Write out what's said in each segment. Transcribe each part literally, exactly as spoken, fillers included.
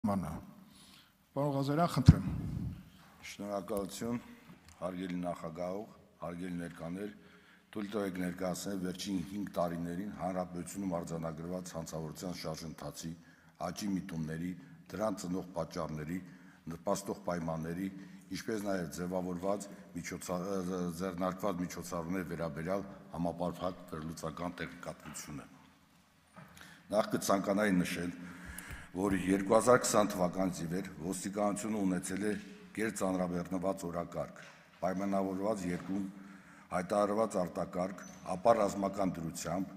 Մանա, պարոն Ղազարյան, խնդրեմ։ Շնորհակալություն, հարգելի նախագահող, հարգելի ներկաներ, թույլ տվեք ներկայացնել վերջին հինգ տարիներին հանրապետությունում արձանագրված հանցավորության շարժընթացի, աճի միտումների, դրան ծնող պատճառների, նպաստող պայմանների, ինչպես նաև ձևավորված ձեռնարկված միջոցառումների վերաբերյալ համապարփակ վերլուծական տեղեկատվությունը։ Նախ կցանկանայի նշել, որ երկու հազար քսան թվականից ի վեր ոստիկանությունը ունեցել է գերծանրաբեռնված օրակարգ, պայմանավորված երկրում հայտարարված արտակարգ, ապա ռազմական դրությամբ,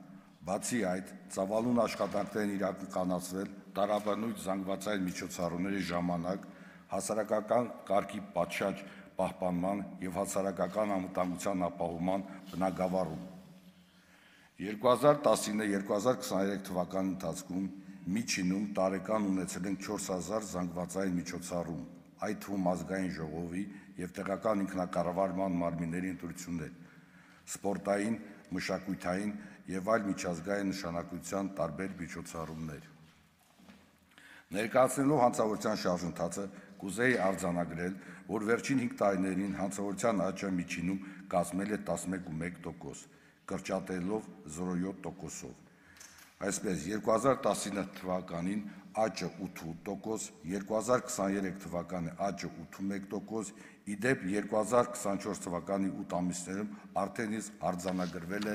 բացի այդ, ծավալուն աշխատանքներ են իրականացվել տարաբնույթ զանգվածային միջոցառումների ժամանակ հասարակական կարգի պատշաճ պահպանման և հասարակական անվտանգության ապահովման բնագավառում։ երկու հազար տասինը երկու հազար քսաներեք թվականի ընթացքում միջինում տարեկան ունեցել ենք չորս հազար զանգվածային միջոցառում, այդ թվում ազգային ժողովի և տեղական ինքնակառավարման մարմինների ընտրություններ, սպորտային, մշակութային և այլ միջազգային նշանակության տարբեր միջոցառումներ։ Ներկայացնելով հանցավորության շարժընթացը, կուզեի արձանագրել, որ վերջին հինգ տարիներին հանցավորության աճը միջինում կազմել է տասնմեկ փոխանակ մեկ տոկոս, կրճատելով զրո յոթ տոկոսով։ Այսպես, երկու հազար տասինը թվականին աճը ութ փոխանակ ութ տոկոս, երկու հազար քսաներեք թվականի աճը ութ փոխանակ մեկ տոկոս, ի դեպ երկու հազար քսանչորս թվականի ութ ամիսներում արդեն իսկ արձանագրվել է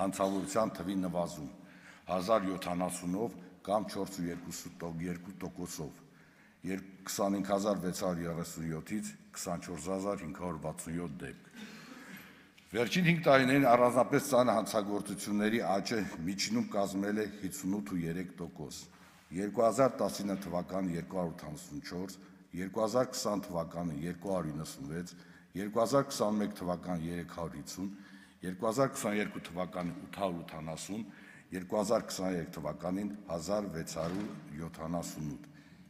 հանցավորության թվի նվազում հազար յոթանասունով կամ չորս փոխանակ երկու տոկոսով, քսանհինգ հազար վեց հարյուր երեսունյոթից քսանչորս հազար հինգ հարյուր վաթսունյոթ դեպք։ Վերջին հինգ տարիներին առանձնապես ծանր հանցագործությունների աճը միջինում կազմել է հիսունութ փոխանակ երեք տոկոս, երկու հազար տասինը թվականի երկու հարյուր ութանասունչորս, երկու հազար քսան թվականի երկու հարյուր իննսունվեց, երկու հազար քսանմեկ թվականի երեք հարյուր հիսուն, երկու հազար քսաներկու թվականի ութ հարյուր ութանասուն, երկու հազար քսաներեք թվականին հազար վեց հարյուր յոթանասունութ,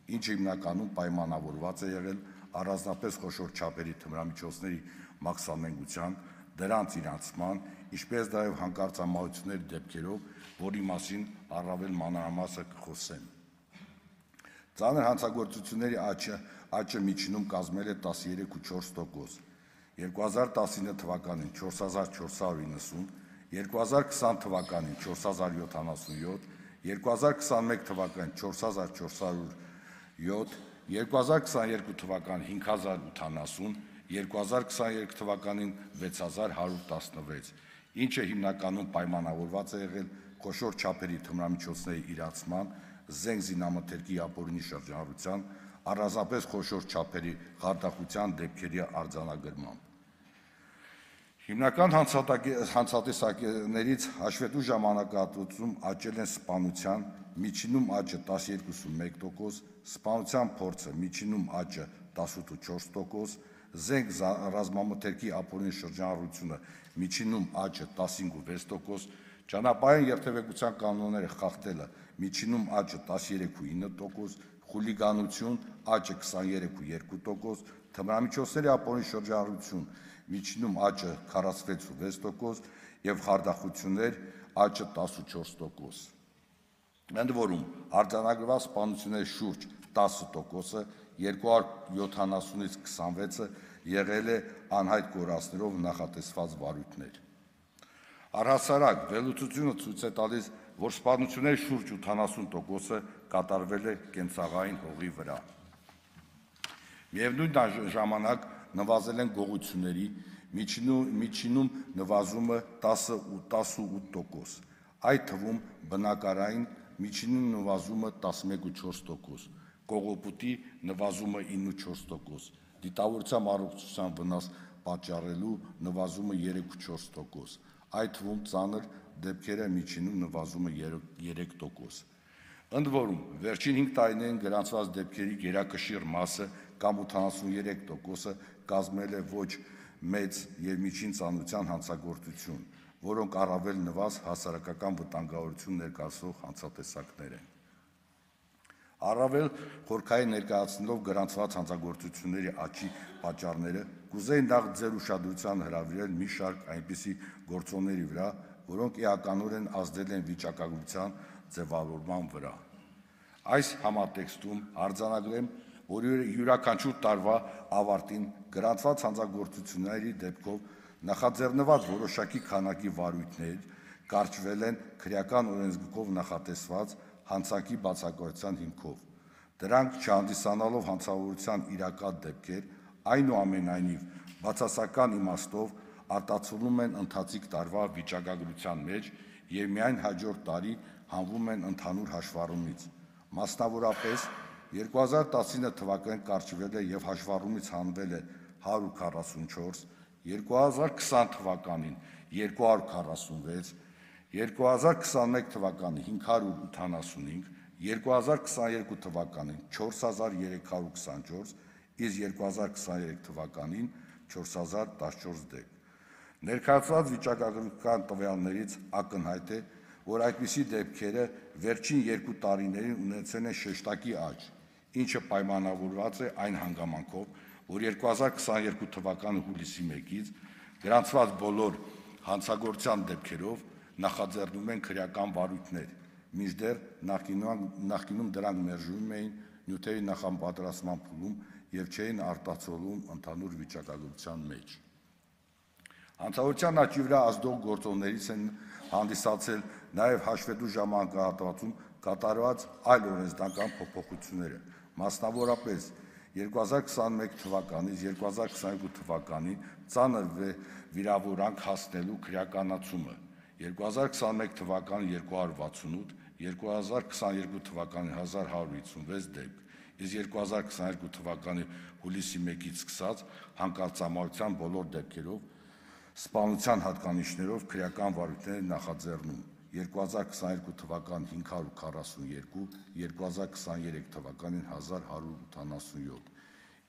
ինչը հիմնականում պայմանավորված է եղել առանձնապես խոշոր չափերի թմրամիջոցների մաքսանենգության, դրանց իրացման, ինչպես նաև հանկարծամահությունների դեպքերով, որի մասին առավել մանրամասը կխոսեմ։ Ծանր հանցագործությունների աճը միջինում կազմել է տասներեք փոխանակ չորս տոկոս, երկու հազար տասինը թվականին չորս հազար չորս հարյուր իննսուն, երկու հազար քսան թվականին չորս հազար յոթանասունյոթ, երկու հազար քսանմեկ թվականին չորս հազար չորս հարյուր յոթ, երկու հազար քսաներկու թվականին հինգ հազար ութանասուն, երկու հազար քսաներեք թվականին վեց հազար հարյուր տասնվեց, ինչը հիմնականում պայմանավորված է եղել խոշոր չափերի թմրամիջոցների իրացման, զենք զինամթերքի ապօրինի շրջանառության, առանձնապես խոշոր չափերի խարդախության դեպքերի արձանագրմամբ։ Հիմնական հանցատեսակներից հաշվետու ժամանակահատվածում աճել են սպանության, միջինում աճը տասներեք փոխանակ մեկ տոկոս, սպանության փորձը միջինում աճը տասնութ փոխանակ չորս տոկոս, զենք ռազմամթերքի ապօրինի շրջանառությունը միջինում աճը տասնհինգ փոխանակ վեց տոկոս, ճանապարհային երթևեկության կանոնները խախտելը միջինում աճը տասներեք փոխանակ ինը տոկոս, խուլիգանություն աճը քսաներեք փոխանակ երկու տոկոս, թմրամիջոցների ապօրինի շրջանառություն միջինում աճը քառասունվեց փոխանակ վեց տոկոս և խարդախություններ աճը տասնչորս տոկոս։ Ընդ որում, արձանագրված սպանությունների շուրջ տասը տոկոսը, երկու հարյուր յոթանասունից քսանվեցը եղել է անհայտ կորածներով նախատեսված վարույթներ։ Առհասարակ, վերլուծությունը ցույց է տալիս, որ սպանությունների շուրջ ութանասուն տոկոսը կատարվել է կենցաղային հողի վրա։ Միևնույն ժամանակ նվազել են գողությունների, միջինում նվազումը տասնութ տոկոս, այդ թվում բնակարային միջինում նվազումը տասնմեկ փոխանակ չորս տոկոս, կողոպուտի նվազումը ինը փոխանակ չորս տոկոս, դիտավորության առողջության վնաս պատճառելու նվազումը երեք փոխանակ չորս տոկոս, այդ թվում ծանր դեպքերը միջինում նվազումը երեք տոկոս։ Ընդ որում, վերջին հինգ տարիներին գրանցված դեպքերի գերակշիռ մասը կամ ութանասուներեք տոկոսը կազմել է ոչ մեծ և միջին ծանրության հանցագործություն, որոնք առավել նվազ հասարակական վտանգավորություն ներկայացնող հանցատեսակներ են։ Առավել խորքային ներկայացնելով գրանցված հանցագործությունների աճի պատճառները, կուզեի նախ ձեր ուշադրությանը հրավիրել մի շարք այնպիսի գործոնների վրա, որոնք էականորեն ազդել են վիճակագրության ձևավորման վրա։ Այս համատեքստում արձանագրեմ, որ յուրաքանչյուր տարվա ավարտին գրանցված հանցագործությունների դեպքով նախաձեռնված որոշակի քանակի վարույթներ կարճվել են քրեական օրենսգրքով նախատեսված հանցանքի բացակայության հիմքով։ Դրանք չհանդիսանալով հանցավորության իրական դեպքեր, այնուամենայնիվ բացասական իմաստով արտացոլում են ընթացիկ տարվա վիճակագրության մեջ և միայն հաջորդ տարի հանվում են ընդհանուր հաշվառումից։ Մասնավորապես, երկու հազար տասինը թվականին կարճվել է և հաշվառումից հանվել է հարյուր քառասունչորս, երկու հազար քսան թվականին երկու հարյուր քառասունվեց, երկու հազար քսանմեկ թվականին հինգ հարյուր ութանասունհինգ, երկու հազար քսաներկու թվականին չորս հազար երեք հարյուր քսանչորս, իսկ երկու հազար քսաներեք թվականին չորս հազար տասնչորս դեպք։ Ներկայացված վիճակագրական տվյալներից ակնհայտ է, որ այդպիսի դեպքերը վերջին երկու տարիներին ունեցել են շեշտակի աճ, ինչը պայմանավորված է այն հանգամանքով, որ երկու հազար քսաներկու թվականի հուլիսի մեկից գրանցված բոլոր հանցագործության դեպքերով նախաձեռնում են քրեական վարույթներ, մինչդեռ նախկինում դրանք մերժվում էին նյութերի նախապատրաստման փուլում և չէին արտացոլվում ընդհանուր վիճակագրության մեջ։ Հանցավորության աճի վրա ազդող գործոններից են հանդիսացել նաև հաշվետու ժամանակահատվածում կատարված այլ օրենսդրական փոփոխությունները, մասնավորապես երկու հազար քսանմեկ թվականից երկու հազար քսաներկու թվականին ծանր վիրավորանք հասնելու քրեականացումը, երկու հազար քսանմեկ թվականին երկու հարյուր վաթսունութ, երկու հազար քսաներկու թվականին հազար հարյուր հիսունվեց դեպք, իսկ երկու հազար քսաներկու թվականի հուլիսի մեկից սկսած հանկարծամարության բոլոր դեպքերով սպանության հատկանիշներով քրեական վարույթներ են նախաձեռնում, երկու հազար քսաներկու թվականին հինգ հարյուր քառասունյոթ, երկու հազար քսաներեք թվականին հազար հարյուր ութանասունյոթ,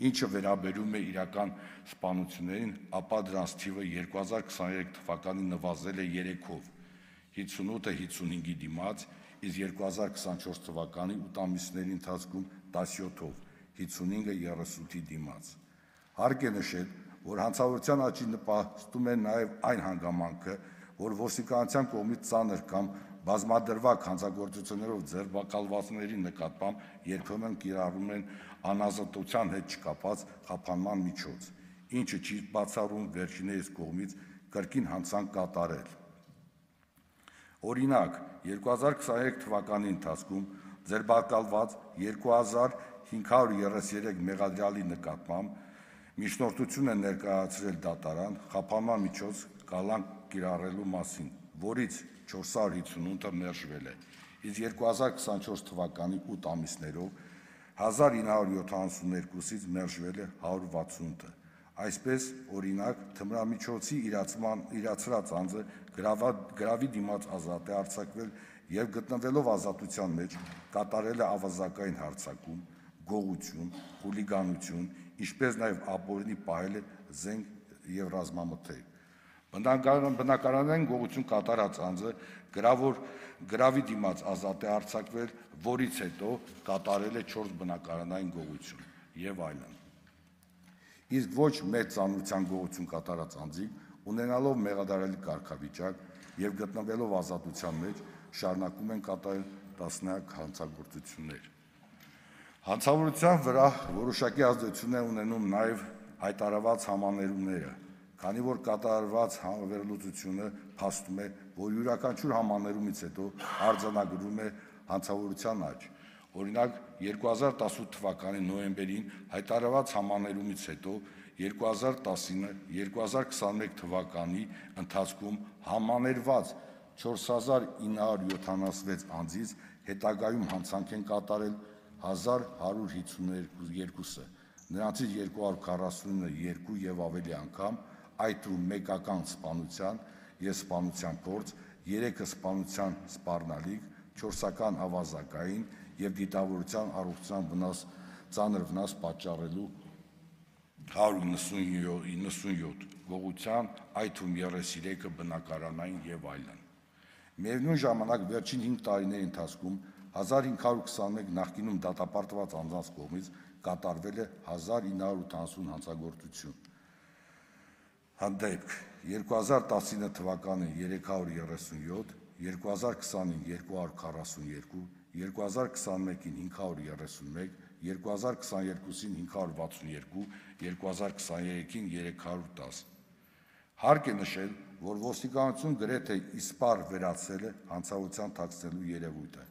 ինչը վերաբերում է իրական սպանություններին, ապա դրանց թիվը երկու հազար քսաներեք թվականին նվազել է երեքով, հինգսունութը հինգսունհինգի դիմաց, իսկ երկու հազար քսանչորս թվականի ութ ամիսների ընթացքում տասնյոթով, հինգսունհինգը երեսունութի դիմաց։ Հարկ է նշել, որ հանցավորության աճին նպաստում է նաև այն հանգամանքը, որ ոստիկանության կողմից ծանր կամ բազմադրվակ հանցագործություններով ձերբակալվածների նկատմամբ երբեմն կիրառում են անազատության հետ չկապված խափանման միջոց, ինչը չի բացառում վերջիններիս կողմից կրկին հանցանք կատարել։ Օրինակ, երկու հազար քսաներեք թվականի ընթացքում ձերբակալված երկու հազար հինգ հարյուր երեսներեք մեղադրյալի նկատմամբ միջնորդություն է ներկայացրել դատարան խափանման միջոց կալանք կիրառելու մասին, որից չորս հարյուր հինգսունութը մերժվել է, իսկ երկու հազար քսանչորս թվականի ութ ամիսներով հազար ինը հարյուր յոթանասունյոթից մերժվել է հարյուր վաթսունութը։ Այսպես, օրինակ, թմրամիջոցի իրացրած անձը գրավի դիմաց ազատ է արձակվել և գտնվելով ազատության մեջ կատարել է ավազակային հարձակում, գողություն, խուլիգանություն, ինչպես նաև ապօրինի պահել է զենք և ռազմամթերք։ Բնակարանային գողություն կատարած անձը գրավի դիմաց ազատ է արձակվել, որից հետո կատարել է չորս բնակարանային գողություն և այլն։ Իսկ ոչ մեծ ծանրության գողություն կատարած անձիկ, ունենալով մեղադարելի կարգավիճակ և գտնվելով ազատության մեջ, շարունակում են կատարել տասնյակ հանցագործություններ։ Հանցավորության վրա որոշակի ազդեցություն է ունենում նաև հայտարարված համաներումները, քանի որ կատարված վերլուծությունը փաստում է, որ յուրաքանչյուր համաներումից հետո արձանագրվում է հանցավորության աճ։ Օրինակ, երկու հազար տասնութ թվականի նոյեմբերին հայտարարված համաներումից հետո երկու հազար տասինը երկու հազար քսանմեկ թվականի ընթացքում համաներված չորս հազար ինը հարյուր յոթանասունվեց անձից հետագայում հանցանք են կատարել հազար հարյուր հինգսունյոթը, նրանցից երկու հարյուր քառասունինը երկու և ավելի անգամ, այդ թվում մեկական սպանության և սպանության փորձ, երեքը սպանության սպառնալիք, չորսական ավազակային և դիտավորության առողջության ծանր վնաս պատճառելու հարյուր նվսունյոթ, գողության, այդ թվում երեսներեքը բնակարանային և այլն։ Միևնույն ժամանակ վերջին հինգ տարիների ընթացքում հազար հինգ հարյուր քսանմեկ նախկինում դատապարտված անձանց կողմից կատարվել է հազար ինը հարյուր ութանասուն հանցագործություն։ Դեպք երկու հազար տասինը թվականին երեք հարյուր երեսունյոթ, երկու հազար քսանին երկու հարյուր քառասունյոթ, երկու հազար քսանմեկին հինգ հարյուր երեսունմեկ, երկու հազար քսաներկուին հինգ հարյուր վաթսունյոթ, երկու հազար քսաներեքին երեք հարյուր տասը։ Հարկ է նշել, որ ոստիկանություն գրեթե իսպառ վերացել է հանցավորության թաքցնելու երևույթը,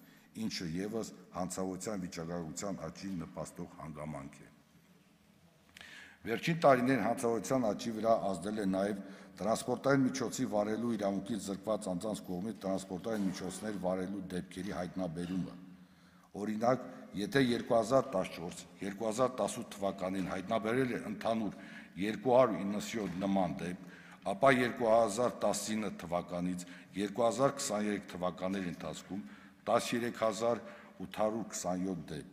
ինչը ևս հանցավորության վիճակագրության աճին նպաստող հանգամանք է։ Վերջին տարիներին հանցավորության աճի վրա ազդել է նաև տրանսպորտային միջոցի վարելու իրավունքից զրկված անձանց կողմից տրանսպորտային միջոցներ վարելու դեպքերի հայտնաբերումը։ Օրինակ, եթե երկու հազար տասնչորս երկու հազար տասութ թվականին հայտնաբերել է ընդհանուր երկու հարյուր իննսյոթ նման դեպք, ապա երկու հազար տասնինը թվականից երկու հազար քսաներեք թվականների ընթացքում տասներեք հազար ութ հարյուր քսանյոթ դեպք,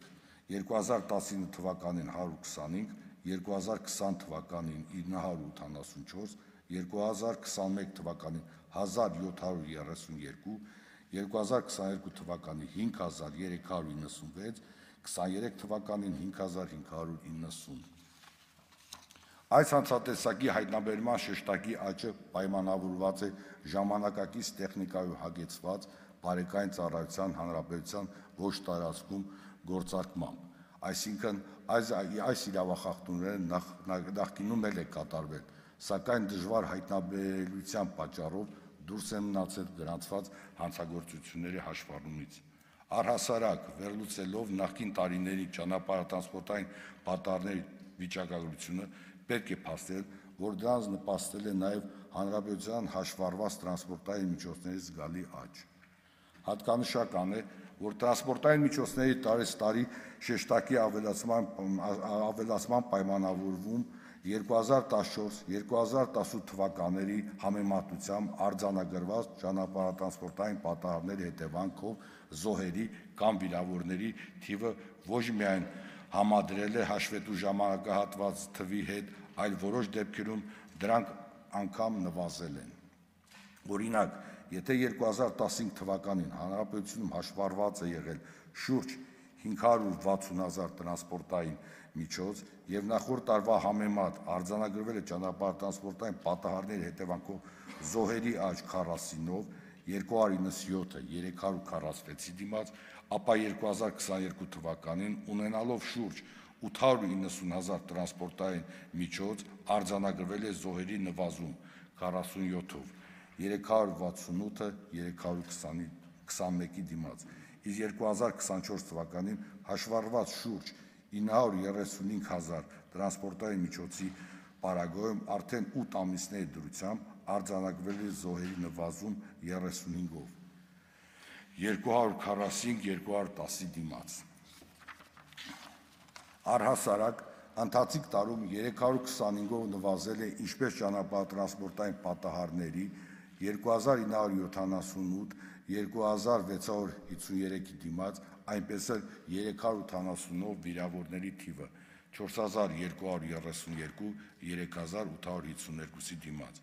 երկու հազար տասնինը թվականին հարյուր քսանհինգ, երկու հազար քսան թվականին ինը հարյուր ութանասունչորս, երկու հազար քսանմեկ թվականին հազար յոթ հարյուր երեսունյոթ, երկու հազար քսաներկու թվականին հինգ հազար երեք հարյուր իննսունվեց, քսաներեք թվականին հինգ հազար հինգ հարյուր իննսուն։ Այս հանցատեսակի հայտնաբերման շեշտակի աճը պայմանավորված է ժամանակակից տեխնիկայով հագեցված բարեկային ծառայության հանրապետության ոչ տարածքում գործարկմամբ, այսինքն այս իրավախախտումները նախկինում էլ է կատարվել, սակայն դժվար հայտնաբերելիության պատճառով դուրս են մնացել գրանցված հանցագործությունների հաշվառումից։ Առհասարակ, վերլուծելով նախկին տարիների ճանապարհատրանսպորտային պատահարների վիճակագրությունը, պետք է փաստել, որ դրանց նպաստել է նաև հանրապետության հաշվառված տրանսպորտային միջոցների զգալի աճ։ Հատկանշական է, որ տրանսպորտային միջոցների տարեցտարի շեշտակի ավելացման պայմանավորվում երկու հազար տասնչորս երկու հազար տասութ թվականների համեմատությամբ արձանագրված ճանապարհատրանսպորտային պատահարների հետևանքով զոհերի կամ վիրավորների թիվը ոչ միայն համադրել է հաշվետու ժամանակահատված թվի հետ, այլ որոշ դեպքերում դրանք անգամ նվազել են։ Օրինակ, եթե երկու հազար տասնհինգ թվականին հանրապետությունում հաշվառված է եղել շուրջ հինգ հարյուր վաթսուն հազար տրանսպորտային միջոց եւ նախորդ տարվա համեմատ արձանագրվել է ճանապարհատրանսպորտային պատահարների հետևանքով զոհերի աճ քառասինով, երկու հարյուր իննսյոթը երեք հարյուր քառասվեցի դիմաց, ապա երկու հազար քսաներկու թվականին ունենալով շուրջ ութ հարյուր իննսուն հազար տրանսպորտային միջոց արձանագրվել է զոհերի նվազում քառասունյոթով, երեք հարյուր վաթսունութը երեք հարյուր քսանմեկի դիմաց, իսկ երկու հազար քսանչորս թվականին հաշվառված շուրջ ինը հարյուր երեսունհինգ հազար տրանսպորտային միջոցի պարագայում արդեն ութ ամիսների դրությամբ արձանագրվել է զոհերի նվազում երեսունհինգով, երկու հարյուր քառասինգ երկու հարյուր տասի դիմաց։ Առհասարակ, ընթացիկ տարում երեք հարյուր քսանհինգով նվազել է ինչպես ճանապարհատրանսպորտային պատահարների, երկու հազար ինը հարյուր յոթանասունութ երկու հազար վեց հարյուր հիսուներեքի դիմաց, այնպես էլ երեք հարյուր ութանասունով վիրավորների թիվը չորս հազար երկու հարյուր երեսունյոթ երեք հազար ութ հարյուր հիսուներկուսի դիմաց։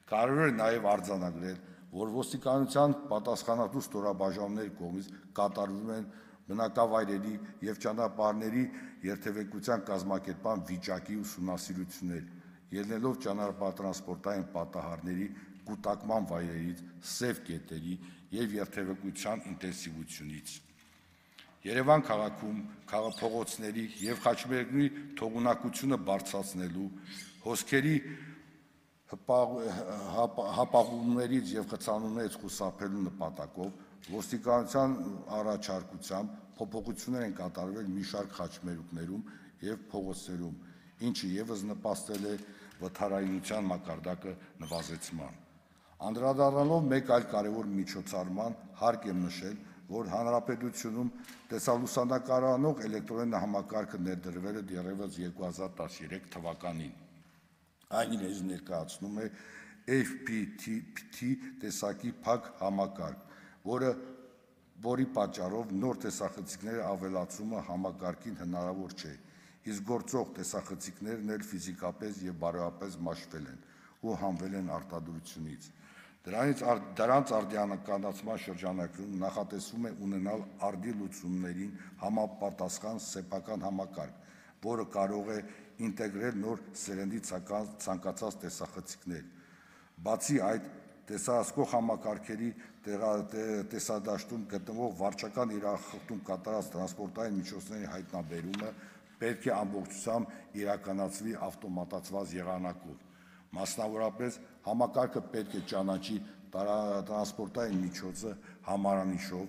Կարևոր է նաև արձանագրել, որ ոստիկանության պատասխանատու ստորաբաժանումների կողմից կատարվում են բնակավայրերի և ճանապարհների երթևեկության կազմակերպման վիճակի ուսումնասիրություններ, ելնելով ճանապարհատրանսպորտային պատահարների կուտակման վայրերից, սև կետերի և երթևեկության ինտենսիվությունից։ Երևան քաղաքում փողոցների և խաչմերուկների թողունակությունը բարձրացնելու, հոսքերի հապաղումներից և խցանումներից խուսափելու նպատակով ոստիկանության առաջարկությամբ փոփոխություններ են կատարվել մի շարք խաչմերուկներում և փողոցներում, ինչը ևս նպաստել է վթարայնության մակարդակը նվազեցման։ Անդրադառնալով մեկ այլ կարևոր միջոցառման, հարկ է նշել, որ հանրապետությունում տեսալուսանկարանող էլեկտրոնային համակարգը ներդրվել է դեռևս երկու հազար տասներեք թվականին։ Այն իրենից ներկայացնում է F P T տեսակի փակ համակարգ, որը որի պատճառով նոր տեսախցիկների ավելացումը համակարգին հնարավոր չէ, իսկ գործող տեսախցիկներն էլ ֆիզիկապես և բարոյապես մաշվել են ու հանվել են արտադրությունից։ Դրանց արդիականացման շրջանակում նախատեսվում է ունենալ արդի լուծումներին համապատասխան սեփական համակարգ, որը կարող է ինտեգրել նոր սերնդի ցանկացած տեսախցիկներ։ Բացի այդ, տեսահսկող համակարգերի տեսադաշտում գտնվող վարչական իրախախտում կատարած տրանսպորտային միջոցների հայտնաբերումը պետք է ամբողջությամբ իրականացվի ավտոմատացված եղանակով։ Մասնավորապես, համակարգը պետք է ճանաչի տրանսպորտային միջոցը համարանիշով,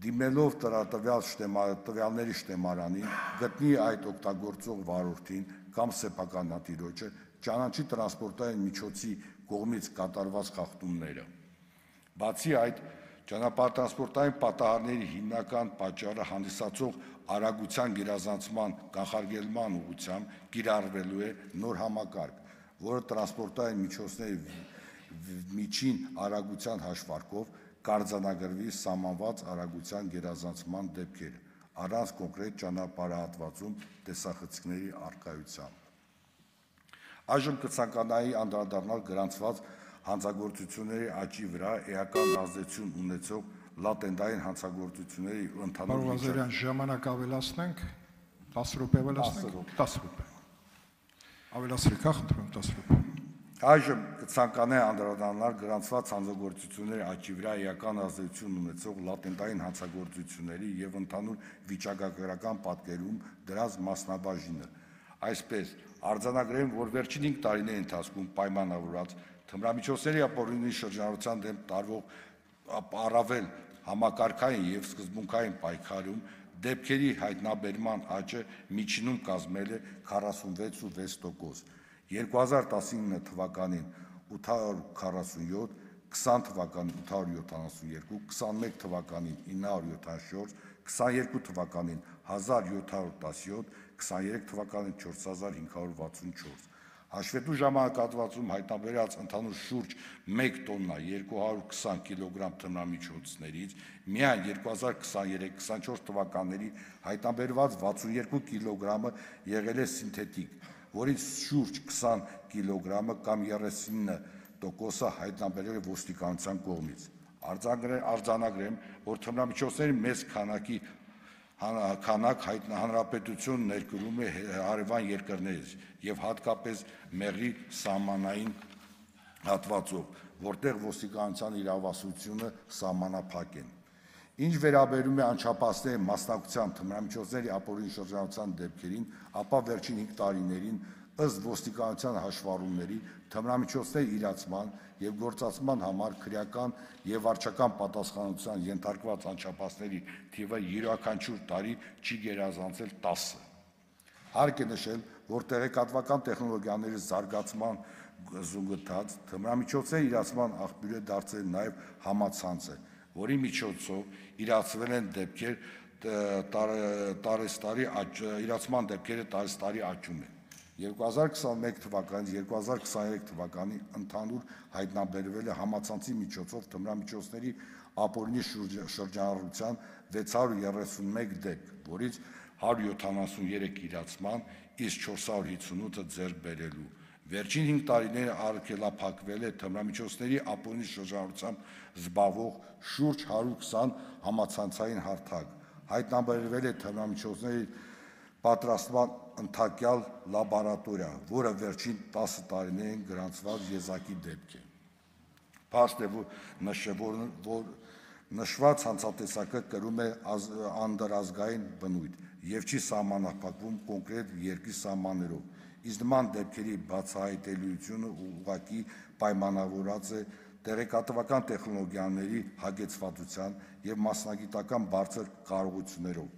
դիմելով տվյալների շտեմարանին, գտնի այդ օգտագործող վարորդին կամ սեփականատիրոջը, ճանաչի տրանսպորտային միջոցի կողմից կատարված խախտումները։ Բացի այդ, ճանապարհատրանսպորտային պատահարների հիմնական պատճառը հանդիսացող արագության գերազանցման կանխարգելման ուղղությամբ կիրառվելու է նոր համակարգ, որը տրանսպորտային միջոցների միջին արագության հաշվարկով կարձանագրվի սահմանված արագության գերազանցման դեպքերը, առանց կոնկրետ ճանապարհահատվածում տեսախցիկների առկայության։ Այժմ կցանկանայի անդրադառնալ գրանցված հանցագործությունների աճի վրա էական ազդեցություն ունեցող լատենտային հանցագործությունների ընդհանուր Պարոն Ղազարյան, ժամանակ ավելացնենք, տասը րոպե ավելացնենք, տասը րոպե։ Ավելացրեք, հա, խնդրում տասը րոպե։ Այժմ կցանկանայի անդրադառնալ գրանցված հանցագործությունների աճի վրա էական ազդեցություն ունեցող լատենտային հանցագործությունների եւ ընդհանուր վիճակագրական պատկերում դրանց մասնաբաժինը։ Այսպես, արձանագրեմ, որ վերջին հինգ տարիների ընթացքում պայմանավորված թմրամիջոցների ապօրինի շրջանառության դեմ տարվող առավել համակարգային եւ սկզբունքային պայքարում դեպքերի հայտնաբերման աճը միջինում կազմել է քառասունվեց ու վեց տոկոս, երկու հազար տասնինը թվականին ութ հարյուր քառասունյոթ, քսան թվականին ութ հարյուր յոթանասունյոթ, քսանմեկ թվականին ինը հարյուր յոթանչորս, քսաներկու թվականին հազար յոթ հարյուր տասնյոթ, քսաներեք թվականին չորս հազար հինգ հարյուր վաթսունչորս։ Հաշվետու ժամանակահատվածում հայտնաբերած ընդհանուր շուրջ մեկ տոննա երկու հարյուր քսան կիլոգրամ թմրամիջոցներից միայն երկու հազար քսաներեք քսանչորս թվականների հայտնաբերված վաթսունյոթ կիլոգրամը եղել է սինթետիկ, որից շուրջ քսան կիլոգրամը կամ երեսունինը տոկոսը հայտնաբերել է ոստիկանության կողմից։ Արձանագրեմ, որ թմրամիջոցների մեծ քանակի քանակ հանրապետություն ներկրում է հարևան երկրներից եւ հատկապես մեղրի սահմանային հատվածով, որտեղ ոստիկանության իրավասությունը սահմանափակ են։ Ինչ վերաբերում է անչափահասների մասնակցության թմրամիջոցների ապօրինի շրջանառության դեպքերին, ապա վերջին հինգ տարիներին ըստ ոստիկանության հաշվառումների թմրամիջոցների իրացման եւ գործածման համար քրեական եւ վարչական պատասխանատվության ենթարկված անչափահասների թիվը յուրաքանչյուր տարի չի գերազանցել տասը։ Հարկ է նշել, որ տեղեկատվական տեխնոլոգիաների զարգացման զուգընթաց թմրամիջոցների իրացման աղբյուր է դարձել նաեւ համացանցը, որի միջոցով իրացվել են դեպքեր տարեստարի իրացման դեպքերը տարեստարի աճում են։ երկու հազար քսանմեկ թվականից երկու հազար քսաներեք թվականի ընդհանուր հայտնաբերվել է համացանցի միջոցով թմրամիջոցների ապօրինի շրջանառության վեց հարյուր երեսունմեկ դեպք, որից հարյուր յոթանասուներեք իրացման, իսկ չորս հարյուր հինգսունութը ձեռք բերելու։ Վերջին հինգ տարիները արգելափակվել է թմրամիջոցների ապօրինի շրջանառությամբ զբաղվող շուրջ հարյուր քսան համացանցային հարթակ, հայտնաբերվել է թմրամիջոցների պատրաստման ընդհակյալ լաբորատորիա, որը վերջին տասը տարիներին գրանցված եզակի դեպք է։ Փաստ է, որ նշված հանցատեսակը կրում է անդրազգային բնույթ եւ չի սահմանափակվում կոնկրետ երկրի սահմաններով, իսկ նման դեպքերի բացահայտելիությունը ուղղակի պայմանավորված է տեղեկատվական տեխնոլոգիաների հագեցվածության եւ մասնագիտական բարձր կարողություններով։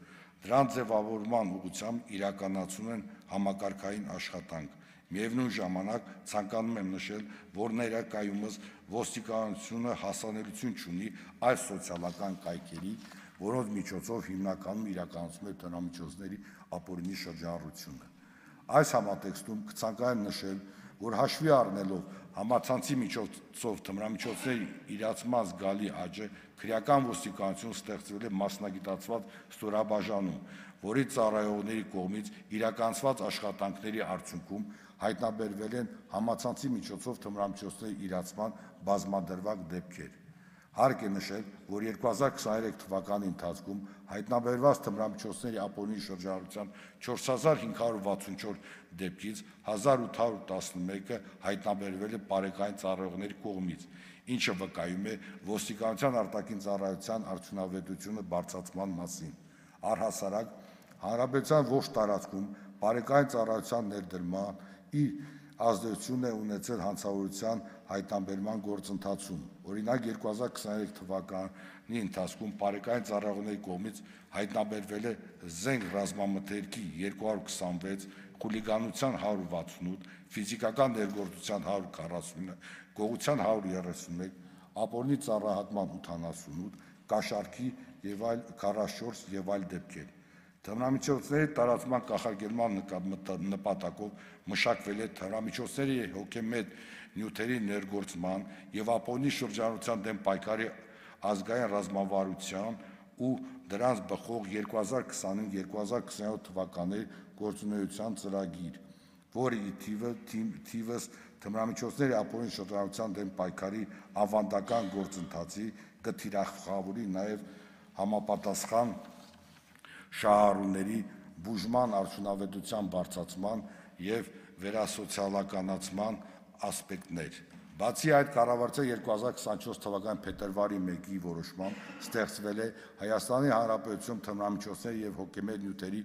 Դրան ձևավորման ուղղությամբ իրականացում են համակարգային աշխատանք։ Միևնույն ժամանակ ցանկանում եմ նշել, որ ներկայումս ոստիկանությունը հասանելիություն չունի այս սոցիալական կայքերի, որոնց միջոցով հիմնականում իրականացում է թմրամիջոցների ապօրինի շրջանառությունը։ Այս համատեքստում կցանկանամ նշել, որ հաշվի առնելով համացանցի միջոցով թմրամիջոցների իրացման զգալի աճը, քրեական ոստիկանություն ստեղծվել է մասնագիտացված ստորաբաժանում, որի ծառայողների կողմից իրականացված աշխատանքների արդյունքում հայտնաբերվել են համացանցի միջոցով թմրամիջոցների իրացման բազմադրվակ դեպքեր։ Հարկ է նշել, որ երկու հազար քսաներեք թվականի ընթացքում հայտնաբերված թմրամիջոցների ապօրինի շրջանառության չորս հազար հինգ հարյուր վաթսունչորս դեպքից հազար ութ հարյուր տասնմեկը հայտնաբերվել է բարեկային ծառայողների կողմից, ինչը վկայում է ոստիկանության արտաքին ծառայության արդյունավետությունը բարձրացման մասին։ Առհասարակ, Հանրապետության ողջ տարածքում բարեկային ծառայության ներդրման իր ազդեցությունն է ունեցել հանցավորության հայտնաբերման գործընթացում։ Օրինակ, երկու հազար քսաներեք թվականի ընթացքում բարեկային ծառայողների կողմից հայտնաբերվել է զենք ռազմամթերքի երկու հարյուր քսանվեց, խուլիգանության հարյուր վաթսունութ, ֆիզիկական ներգործության հարյուր քառասունինը, գողության հարյուր երեսունմեկ, ապօրինի ծառայահատման ութանասունութ, կաշառքի եւ այլ քառասունչորս եւ այլ դեպքեր։ Թմրամիջոցների տարածման կանխարգելման նպատակով մշակվել է թմրամիջոցների հոգեմետ նյութերի ներգործման եւ ապօրինի շրջանառության դեմ պայքարի ազգային ռազմավարության ու դրանց բխող երկու հազար քսանհինգ երկու հազար քսաներորդ թվականների գործունեության ծրագիր, որը ի թիվս թմրամիջոցների ապօրինի շրջանառության դեմ պայքարի ավանդական գործընթացի կթիրախավորի նաեւ համապատասխան շահառուների բուժման արդյունավետության բարձրացման եւ վերասոցիալականացման ասպեկտներ։ Բացի այդ, կառավարության երկու հազար քսանչորս թվականի փետրվարի մեկի որոշմամբ ստեղծվել է Հայաստանի Հանրապետություն թմրամիջոցների եւ հոգեմետ նյութերի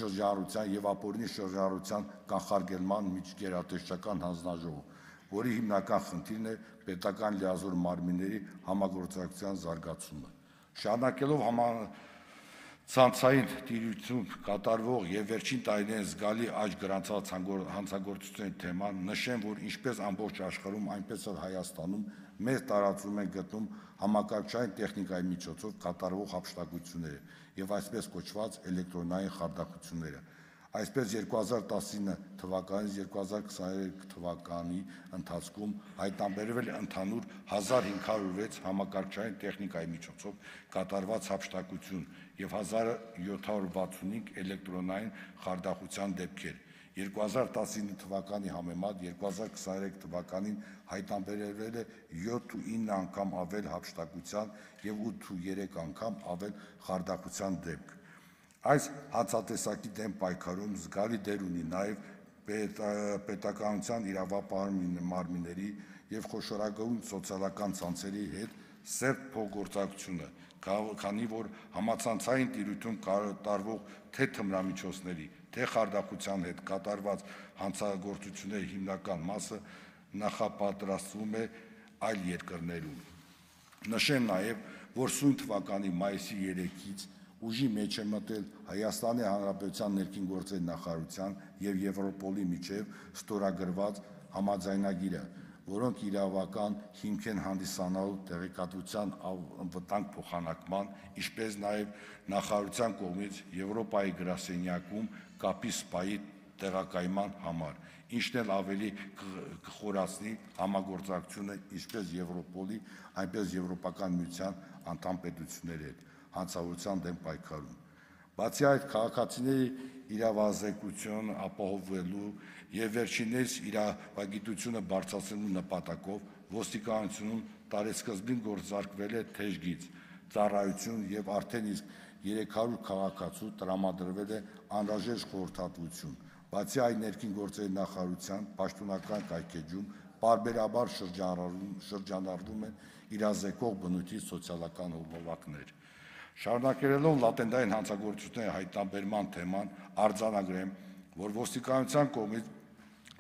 շրջանառության եւ ապօրինի շրջանառության կանխարգելման միջգերատեսչական հանձնաժողով, որի հիմնական խնդիրն է պետական լիազոր մարմինների համագործակցության զարգացումը։ Շարունակելով համացանցային տիրույթում կատարվող եւ վերջին տարիներին զգալի աճ գրանցած հանցագործությունների թեման, նշեմ, որ ինչպես ամբողջ աշխարհում, այնպես էլ Հայաստանում մեծ տարածում են գտնում համակարգչային տեխնիկայի միջոցով կատարվող հափշտակությունները եւ այսպես կոչված էլեկտրոնային խարդախությունները։ Այսպես երկու հազար տասնինը թվականից երկու հազար քսաներեք թվականի ընթացքում հայտնաբերվել է ընդհանուր հազար հինգ հարյուր վեց համակարգչային տեխնիկայի միջոցով կատարված հափշտակություն եւ հազար յոթ հարյուր վաթսունհինգ էլեկտրոնային խարդախության դեպքեր։ երկու հազար տասնինը թվականի համեմատ երկու հազար քսաներեք թվականին հայտնաբերվել է յոթ ու ինը անգամ ավել հափշտակության եւ ութ ու երեք անգամ ավել խարդախության դեպք։ Այս հացատեսակի դեմ պայքարում զգալի դեր ունի նաև պետականության իրավապահ մարմինների եւ խոշորագույն սոցիալական ցանցերի հետ սերտ փոխգործակցությունը, քանի որ համացանցային տիրույթում կատարվող թե թմրամիջոցների, թե խարդախության հետ կատարված հանցագործությունների հիմնական մասը նախապատրաստվում է այլ երկրներում։ Նշեմ նաև, որ սույն թվականի մայիսի երեքից ուժի մեջ է մտել Հայաստանի Հանրապետության ներքին գործերի նախարարության եւ Եվրոպոլի միջև ստորագրված համաձայնագիրը, որոնք իրավական հիմք են հանդիսանալու տեղեկատվության անվտանգ փոխանակման, ինչպես նաեւ նախարարության կողմից Եվրոպայի գրասենյակում կապի սպայի տեղակայման համար, ինչն էլ ավելի կխորացնի համագործակցությունը ինչպես Եվրոպոլի, այնպես Եվրոպական միության անդամ պետությունների հետ հանցավորության դեմ պայքարում։ Բացի այդ, քաղաքացիների իրավազեկությունը ապահովելու եւ վերջիններս իրավագիտությունը բարձրացնելու նպատակով ոստիկանությունում տարեսկզբին գործարկվել է թեժգիծ ծառայություն եւ արդեն իսկ երեք հարյուր քաղաքացու տրամադրվել է անհրաժեշտ խորհրդատվություն։ Բացի այդ, ներքին գործերի նախարարության պաշտոնական կայքեջում պարբերաբար շրջանառվում են իրազեկող բնույթի սոցիալական հոլովակներ։ Շարունակելով լատենտային հանցագործությունների հայտնաբերման թեման, արձանագրեմ, որ ոստիկանության կողմից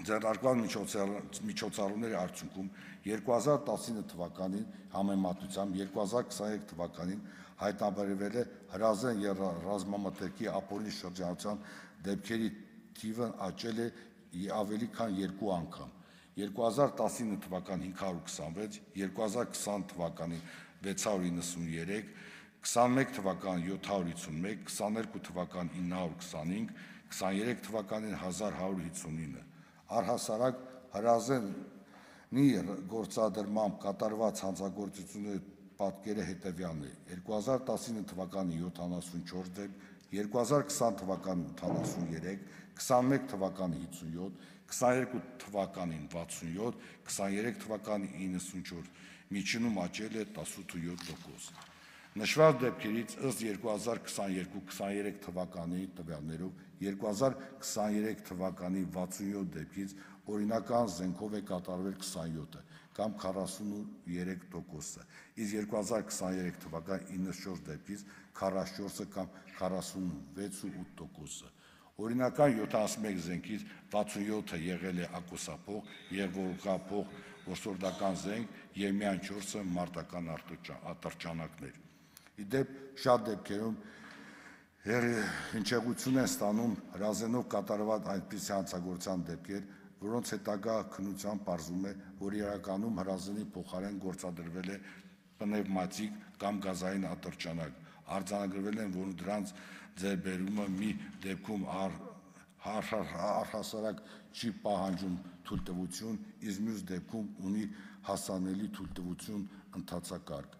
ձեռնարկված միջոցառումների արդյունքում երկու հազար տասնինը թվականին համեմատությամբ երկու հազար քսաներեք թվականին հայտնաբերվել է հրազեն եւ ռազմամթերքի ապօրինի շրջանառության դեպքերի թիվն աճել է ավելի քան երկու անգամ։ երկու հազար տասնինը թվականին հինգ հարյուր քսանվեց, երկու հազար քսան թվականին վեց հարյուր իննսուններեք, քսանմեկ թվականին յոթ հարյուր հիսունմեկ, քսաներկու թվականին ինը հարյուր քսանհինգ, քսաներեք թվականին հազար հարյուր հիսունինը։ Առհասարակ հրազենի գործադրմամբ կատարված հանցագործությունների պատկերը հետևյալն է. երկու հազար տասնինը թվականին յոթանասունչորս դեպք, երկու հազար քսան թվականին ութանասուներեք, քսանմեկ թվականին հիսունյոթ, քսաներկու թվականին վաթսունյոթ, քսաներեք թվականին իննսունչորս, միջինում աճել է տասնութ ու յոթ տոկոս։ Նշված դեպքերից ըստ երկու հազար քսաներկու քսաներեք թվականի տվյալներով երկու հազար քսաներեք թվականի վաթսունյոթ դեպքից օրինական զենքով է կատարվել քսանյոթը, կամ քառասունուերեք տոկոսը, իսկ երկու հազար քսաներեք թվականի իննսունչորս դեպքից քառասունչորսը կամ քառասունվեցուութ տոկոսը։ Օրինական յոթանասունմեկ զենքից վաթսունյոթը եղել է ակոսափող եւ որակափող որսորդական զենք եւ միայն չորսը մարտական ատրճանակներ։ Իդեպ շատ դեպքերում հնչեղություն են ստանում հրազենով կատարված այնպիսի հանցագործության դեպքեր, որոնց հետագա քննությամբ պարզվում է, որ իրականում հրազենի փոխարեն գործադրվել է պնևմատիկ կամ գազային ատրճանակ, արձանագրվել են, որ դրանց ձեռբերումը մի դեպքում առհասարակ չի պահանջում թույլտվություն, իսկ մյուս դեպքում ունի հասանելի թույլտվություն ընթացակարգ։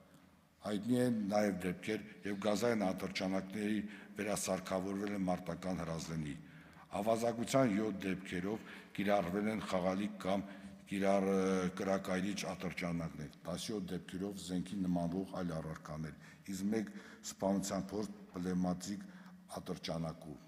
Հայտնի են նաև դեպքեր, եւ գազային ատրճանակների վերասարքավորվել են մարտական հրազենի։ Ավազակության յոթ դեպքերով կիրառվել են խաղալիք կամ կրակայրիչ ատրճանակներ, տասնյոթ դեպքերով զենքի նմանվող այլ առարկաներ, իսկ մեկ սպանության փորձ պնևմատիկ ատրճանակով։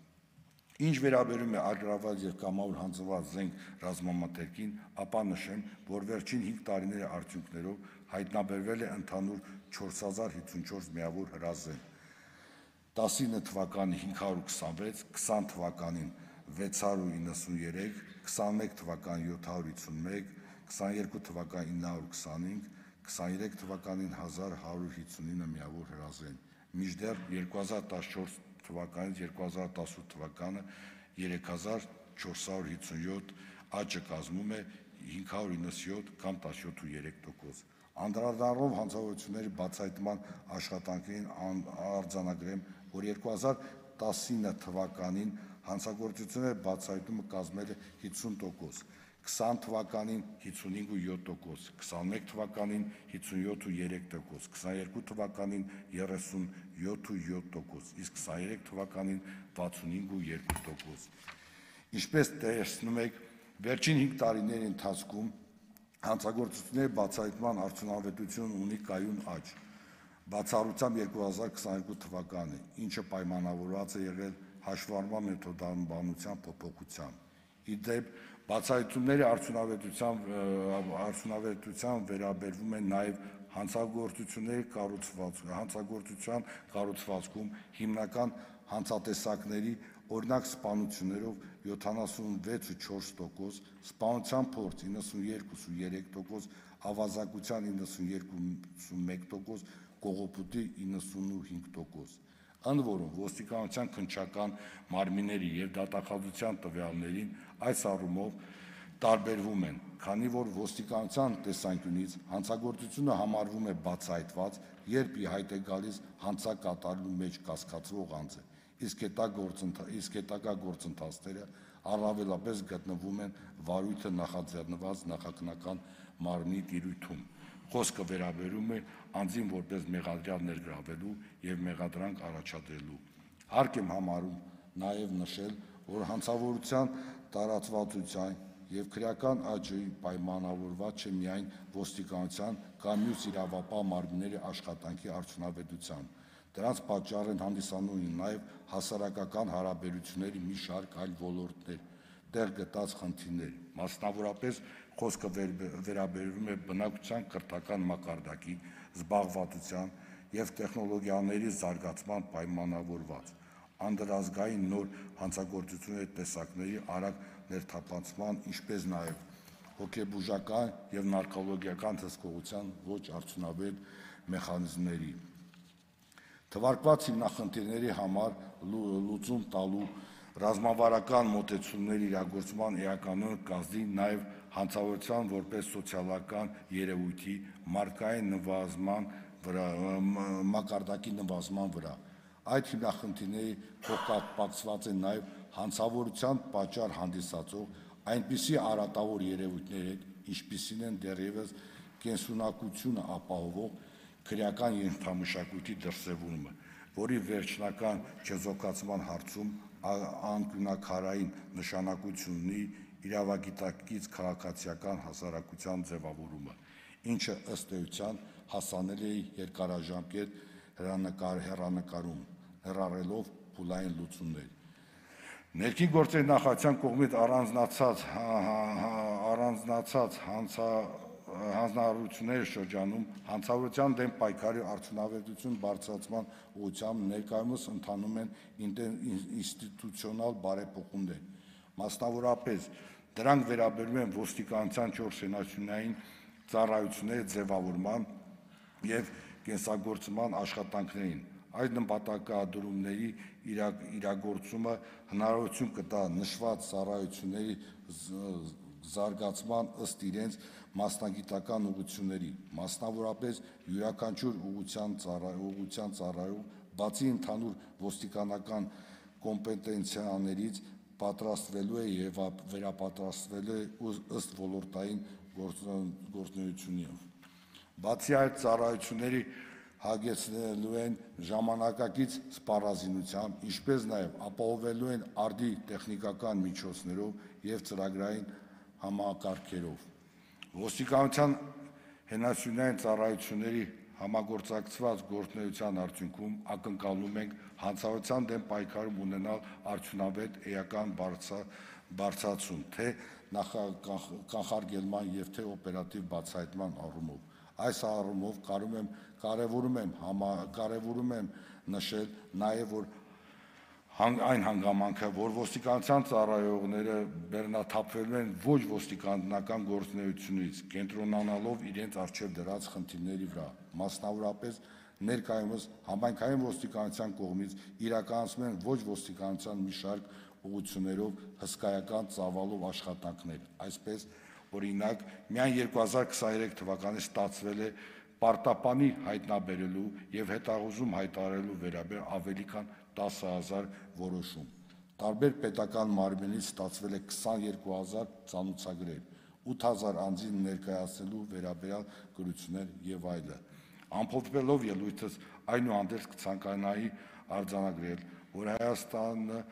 Ինչ վերաբերում է ագրավված եւ կամավոր հանձնված զենք ռազմամթերքին, ապա նշեմ, որ վերջին հինգ տարիների արդյունքներով հայտնաբերվել է ընդհանուր չորս հազար հինգսունչորս միավոր հրազեն, տասնինը թվականին հինգ հարյուր քսանվեց, քսան թվականին վեց հարյուր իննսուններեք, քսանմեկ թվականին յոթ հարյուր հինգսունմեկ, քսաներկու թվականին ինը հարյուր քսանհինգ, քսաներեք թվականին հազար հարյուր հինգսունինը միավոր հրազեն, մինչդեռ երկու հազար տասնչորս թվականից երկու հազար տասնութ թվականը երեք հազար չորս հարյուր հինգսունյոթ, աճը կազմում է հինգ հարյուր իննսունյոթ կամ տասնյոթ տոկոս։ Անդրադառնալով հանցավորությունների բացահայտման աշխատանքներին արձանագրեմ, որ երկու հազար տասնինը թվականին հանցագործությունների բացահայտումը կազմել է հինգսուն տոկոս, քսան թվականին հինգսունհինգ ու յոթ տոկոս, քսանմեկ թվականին հինգսունյոթ ու երեք տոկոս, քսաներկու թվականին երեսունյոթ ու յոթ տոկոս, իսկ քսաներեք թվականին վաթսունհինգ ու երկու տոկոս։ Ինչպես տեսնում եք, վերջին հինգ տարիների ընթացքում հանցագործությունների բացահայտման արդյունավետությունը ունի կայուն աճ, բացառությամբ երկու հազար քսաներկու թվականը, ինչը պայմանավորված է եղել հաշվառման մեթոդաբանության փոփոխությամբ։ Իդեպ բացահայտումների արդյունավետության վերաբերվում են նաև հանցագործությունների հանցագործության կառուցվածքում հիմնական հանցատեսակների, օրինակ սպանություններով յոթանասունվեց ու չորս տոկոս, սպանության փորձ իննսունյոթ ու երեք տոկոս, ավազակության իննսունմեկ տոկոս, կողոպուտի իննսունհինգ տոկոս։ Ընդ որում, ոստիկանության քննչական մարմինների եւ դատախազության տվյալներին այս առումով տարբերվում են, քանի որ ոստիկանության տեսանկյունից հանցագործությունը համարվում է բացահայտված, երբ ի հայտ է գալիս հանցակատարելու մեջ կասկածվող անձը, իսկ հետագա գործընթացները առավելապես գտնվում են վարույթը նախաձեռնված նախաքննական մարմնի տիրույթում։ Խոսքը վերաբերում է անձին որպես մեղադրյալ ներգրավելու եւ մեղադրանք առաջադրելու։ Հարկ եմ համարում նաեւ նշել, որ հանցավորության տարածվածության եւ քրեական աճի պայմանավորված չէ միայն ոստիկանության կամ մյուս իրավապահ մարմինների աշխատանքի արդյունավետության։ Դրանց պատճառ են հանդիսանում նաեւ հասարակական հարաբերությունների մի շարք այլ ոլորտներ, տեղ գտած խնդիրներ, մասնավորապես խոսքը վերաբերվում է բնակչության կրթական մակարդակի, զբաղվածության եւ տեխնոլոգիաների զարգացման պայմանավորված, անդրազգային նոր հանցագործությունների տեսակների արագ ներթափանցման, ինչպես նաեւ հոգեբուժական եւ նարկոլոգիական հսկողության ոչ արդյունավետ մեխանիզմների։ Թվարկված հիմնախնդիրների համար լուծում տալու ռազմավարական մոտեցումների իրագործման էականորեն կազդի նաև հանցավորության որպես սոցիալական երևույթի մարդկային նվազման վրա, մակարդակի նվազման վրա։ Այդ հիմնախնդիրների փոխկապակցված են նաև հանցավորության պատճառ հանդիսացող այնպիսի արատավոր երևույթների հետ, ինչպիսին են դեռևս կենսունակությունը ապահովող քրեական ենթամշակույթի դրսևորումը, որի վերջնական չեզոքացման հարցում անկյունաքարային նշանակություն ունի իրավագիտակից քաղաքացիական հասարակության ձևավորումը, ինչը ըստ էության հասանելի է երկարաժամկետ հեռանկարում, հեռառելով փուլային լուծումներ։ Ներքին գործերի նախարարության կողմից առանձնացած առանձնացած հանձնարարությունների շրջանում հանցավորության դեմ պայքարի արդյունավետություն բարձրացման ուղղությամբ ներկայումս ընթանում են ինստիտուցիոնալ բարեփոխումներ։ Մասնավորապես, դրանք վերաբերում են ոստիկանության չորս սենյակային ծառայությունների ձևավորման և կենսագործման աշխատանքներին։ Այս նպատակադրումների իրագործումը հնարավորություն կտա նշված ծառայությունների զարգացման ըստ իրենց մասնագիտական ուղղությունների, մասնավորապես յուրաքանչյուր ուղղության ծառայում, բացի ընդհանուր ոստիկանական կոմպետենցիաներից, պատրաստվելու է և վերապատրաստվելու է ըստ ոլորտային գործունեությունների։ Բացի այդ, ծառայությունները հագեցնելու են ժամանակակից սպառազինությամբ, ինչպես նաև ապահովելու են արդի տեխնիկական միջոցներով և ծրագրային համակարգերով։ Ոստիկանության հենասյունային ծառայությունների համագործակցված գործունեության արդյունքում ակնկալում ենք հանցավորության դեմ պայքարում ունենալ արդյունավետ էական բարձրացում թե կանխարգելման և թե օպերատիվ բացահայտման առումով։ Այս առումով կարևորում եմ նշել նաև այն հանգամանքը, որ ոստիկանության ծառայողները բեռնաթափվելու են ոչ ոստիկանական գործունեությունից, կենտրոնանալով իրենց առջև դրած խնդիրների վրա, մասնավորապես ներկայումս համայնքային ոստիկանության կողմից իրականացնում են ոչ ոստիկանության մի շարք ուղղություններով հսկայական ծավալով աշխատանքներ, այսպես, օրինակ, միայն երկու հազար քսաներեք թվականին ստացվել է պարտապանի հայտնաբերելու և հետախուզում հայտարարելու վերաբերյալ ավելի քան տասը հազար որոշում, տարբեր պետական մարմիններից ստացվել է քսաներկու հազար ծանոթագրեր, ութ հազար անձի ներկայացնելու վերաբերյալ գրություններ և այլն։ Ամփոփելով ելույթս, այնուհանդերձ կցանկանայի արձանագրել, որ Հայաստանը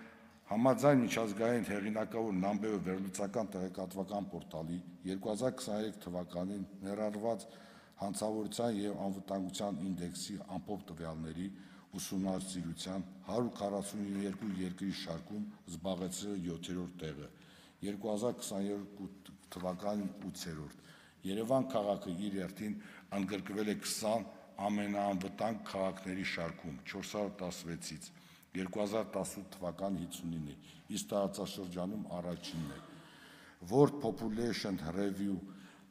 համաձայն միջազգային հեղինակավոր Նամբեո վերլուծական տեղեկատվական պորտալի երկու հազար քսաներեք թվականին ներառված հանցավորության և անվտանգության ինդեքսի ամփոփ տվյալների ուսումնասիրության հարյուր քառասունյոթ երկրի շարքում զբաղեցրել է յոթերորդ տեղը, երկու հազար քսաներկու թվականին ութերորդ։ Երևան քաղաքը իր հերթին ընդգրկվել է քսան ամենաանվտանգ քաղաքների շարքում չորս հարյուր տասնվեցից, երկու հազար տասնութ թվականի հինգսունինը, իսկ տարածաշրջանում առաջինն է։ World Population Review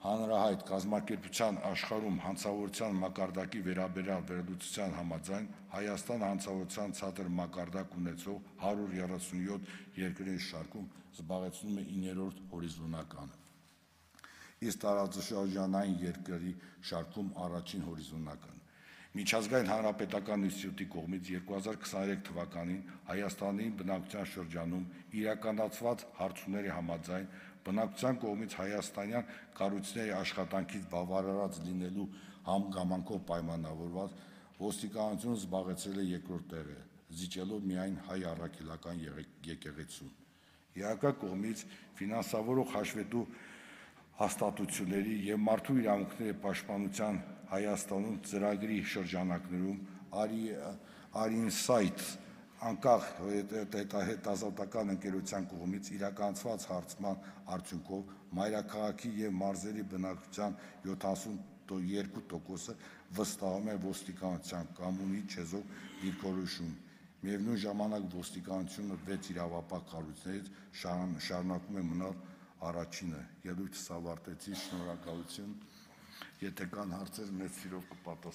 հանրահայտ կազմակերպության աշխարհում հանցավորության մակարդակի վերաբերյալ վերլուծության համաձայն Հայաստանը հանցավորության ցածր մակարդակ ունեցող հարյուր երեսունյոթ երկրների շարքում զբաղեցնում է իններորդ հորիզոնականը, իսկ տարածաշրջանային երկրների շարքում առաջին հորիզոնականը։ Միջազգային հանրապետական ինստիտուտի կողմից երկու հազար քսաներեք թվականին Հայաստանի բնակչության շրջանում իրականացված հարցումների համաձայն բնակչության կողմից հայաստանյան կառույցների աշխատանքից բավարարված լինելու հանգամանքով պայմանավորված ոստիկանությունը զբաղեցրել է երկրորդ տեղը, զիջելով միայն հայ առաքելական եկեղեցուն։ ԵԱԿ կողմից ֆինանսավորող հաշվետու հաստատությունների և մարդու իրավունքների պաշտպանության Հայաստանում ծրագրի շրջանակներում Արինսայթ անկախ հետազոտական ընկերության կողմից իրականացված հարցման արդյունքով մայրաքաղաքի և մարզերի բնակչության յոթանասուն երկու տոկոսը վստահում է ոստիկանության կամունի չեզոք դիրքորոշում։ Միևնույն ժամանակ ոստիկանությունը վեց իրավապահ կառույցներից շարունակում է մնալ առաջինը։ Ելույթս ավարտեցի, շնորհակալություն, եթե կան հարցեր, մեծ սիրով կպատասխանեմ։